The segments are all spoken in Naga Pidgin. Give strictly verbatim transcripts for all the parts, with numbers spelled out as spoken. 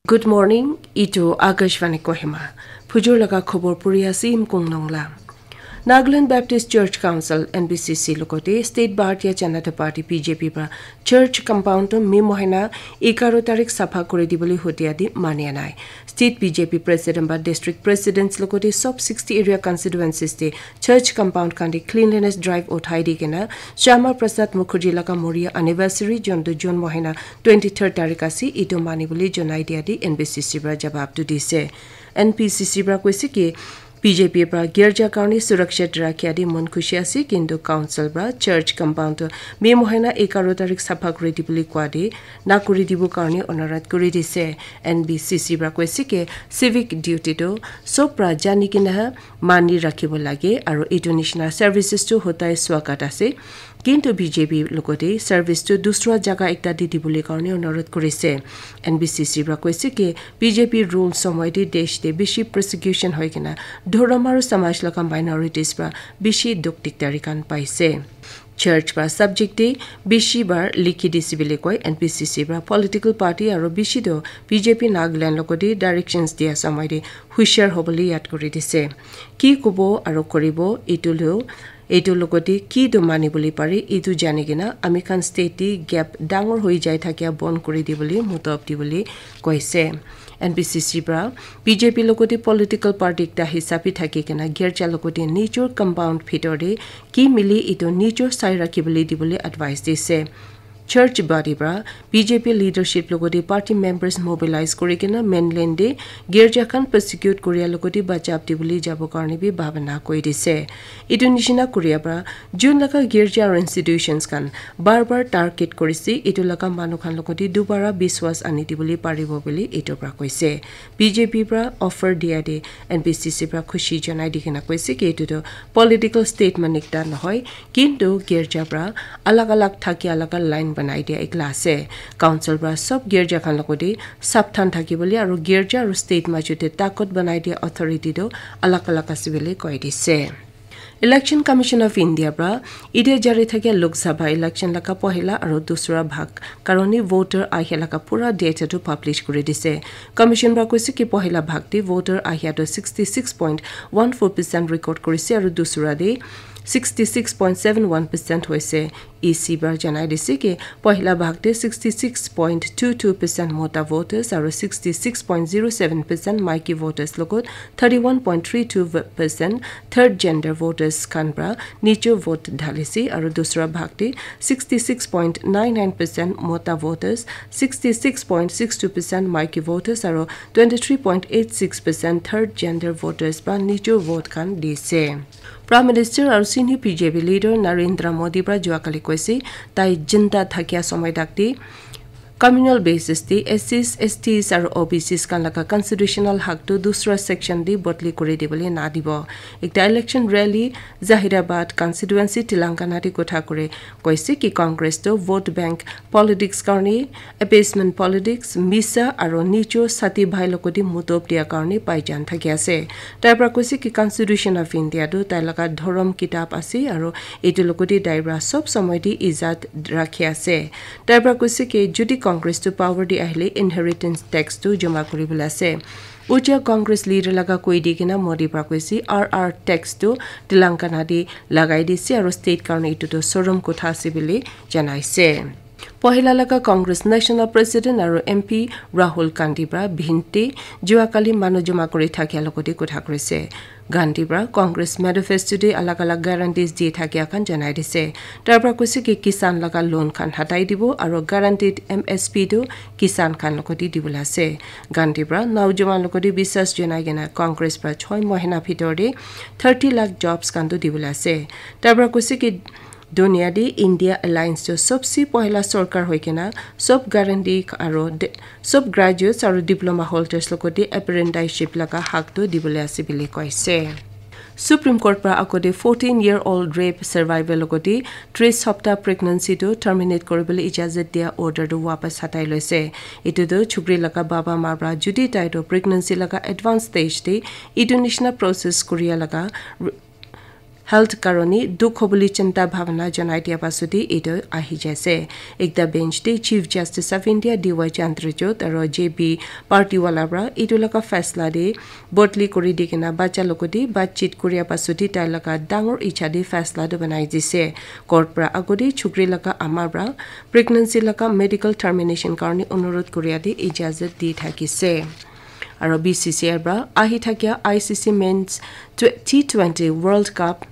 Good morning, itu Akashvani Kohima. Phujur laga khobor puri ase Imkung Nongla. Nagaland Baptist Church Council, N B C C, logote State Bharatiya Janata Party, B J P, pra church compound to May mohina egaro tarik sapha kuri dibole hutia di mania nai. State B J P president ba district presidents logote sob sixty area constituencies te church compound khan te cleanliness drive uthai di kena Shyama Prasad Mukherjee laga moria anniversary, jontu June mohina twenty-third tarik ase, itu mani bole jonai dia di N B C C pra jawab tu dise. N B C C pra koise ki B J P pra girja karni suraksha rakhia di mon khushi ase, kintu council pra church compound tu May mohina egaro tarik sapha kuri dibole koa di na kuri dibo karni onurodh kuri dise. N B C C pra koise ki civic duty tu sob pra jani kena mani rakhibo lage, aru itu nishina services tu hotai swagat ase. Kintu B J P logote service tu dusra jaga ekta te dibole karne onurodh kurise. N B C C pra koise ki B J P rule somoy te desh te bishi persecution hoi kena dhorom aru samaj laga minorities pra bishi dukh dikdari khan paise. Church pra subject te bishi bar likhi dise bole koi N B C C pra political party aru bishi to B J P Nagaland logote directions dia somoy te hushar hobole yad kuri dise. Ki kobo aru koribo itu lo Etu logote ki tu mani bole pare, etu jani kena ami khan state te gap dangor hoi jai thakia bon kuri dibole mutob dibole koise. N B C C pra B J P logote political party ekta hisabe thaki kena girja logote nijor compound bhitor te ki mili etu nijor sai rakhi bole dibole advice dise. Church body pra B J P leadership logote party members mobilize kuri kena mainland te girja khan persecute kuria logote bachab dibole jabo karne bi bhabana koi dise. Etu nishina kuria pra jun laga girja aru institutions khan bar bar target kurise, etu laga manu khan logote dubara biswas ani dibole paribo bole etu pra koise. B J P pra offer dia te N B C C pra khushi janai di kena koise ki etu tu political statement ekta nohoi, kintu girja pra alag alag thakia laga line banai dia ekla ase. Council pra sob girja khan logote sapthan thaki bole aru girja aru state majo te takot banai dia authority tu alag alag ase bole koi dise. Election Commission of India pra etia jari thakia Lok Sabha election laga pohila aru dusra bhag karone voter ahia laga pura data tu publish kuri dise. Commission pra koise ki pohila bhag te voter ahia tu sixty six point one four percent record kurise aru dusra te sixty six point seven one percent hoise. E C pra janai dise ki pohila bhag te sixty six point two two percent mota voters aru sixty six point zero seven percent maiki voters logot thirty one point three two percent third gender voters khan pra nijo vote dhalise aru dusra bhag te sixty six point nine nine percent mota voters, sixty six point six two percent maiki voters aru twenty three point eight six percent third gender voters pra nijo vote khan dise. Prime Minister aru senior B J P leader Narendra Modi pra juakali koise tai jinda thakia somoy tak te communal basis te S Cs, S Ts aru O B Cs khan laga constitutional hak tu dusra section te bodli kuri dibole na dibo. Ekta election rally Zahirabad constituency Telangana te kotha kuri koise ki Congress tu vote bank politics karne appeasement politics, misa aru nijo sati bhai logote mutob dia karne paijan thaki ase. Tai pra koise ki Constitution of India tu tai laga dhorom kitab ase aru etu logote tai pra sob somoy te ijat rakhi ase. Tai pra koise ki jodi Congress tu power te ahile inheritance tax tu joma kuri bole ase. Uja Congress leader laga koi di kena Modi pra koise R R tax tu Telangana te lagai dise aru state karne etu tu sorom kotha ase bole janai se. Pohila laga Congress National President aru M P Rahul Gandhi pra bhinti juakali manu joma kuri thakia logote kotha kurise. Gandhi pra Congress manifesto te alag alag guarantees di thakia khan janai dise. Tar pra koise ki kisan laga loan khan hatai dibo aru guaranteed M S P tu kisan khan logote dibole ase. Gandhi pra naujowan logote biswas janai kena Congress pra choi mohina bhitor te thirty lakh jobs khan tu dibole ase. Tar pra koise ki dunia te India Alliance tu sobse pohila sorkar hoi kena sob guarantee aru de-, sob graduates aru diploma holders logote apprenticeship laga hak tu dibole ase bole koise. Supreme Court pra agote fourteen year old rape survivor logote tris hapta pregnancy tu terminate kuribole ijazat dia order tu wapas hatai loise. Etu tu chukri laga baba ma pra jodi tai tu pregnancy laga advance stage te etu nishina process kuria laga r-, health karone dukh hobole chinta bhabana janai dia pasode etu ahi jaise. Ekta bench te Chief Justice of India D Y Chandrachud aro J B Partiwala pra etu laga faisla de bodli kuri di kena bacha logote batchit kuria pasode tai laga dangor icha de faisla tu banai dise. Court pra agode chukri laga ama pra pregnancy laga medical termination karone onurod kuria de ijazat di thakise. Aro B C C I pra ahi thakia I C C Men's T twenty World Cup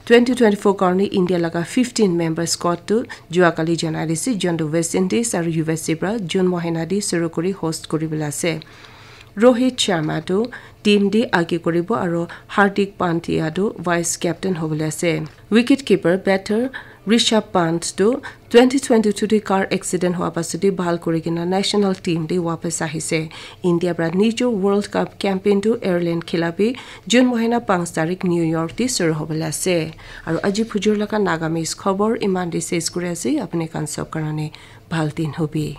twenty twenty-four karone India laga fifteen member squad tu jua kali janai dise, jontu West Indies aro U S A pra June mohina de suru kuri host kuribole ase. Rohit Sharma tu team de age kuribo aro Hardik Pandya tu vice captain hobole ase. Wicket keeper batter Rishabh Pant tu twenty twenty-two de car accident hua pasode bhal kuri kena national team de wapas ahise. India pra nijor World Cup campaign tu Ireland khilafi June mohina panch tarik New York de suru hobole ase. Aro aji phujur laga Nagamese khobor iman de ses kuri ase. Apni khan sob karone bhal din hobi.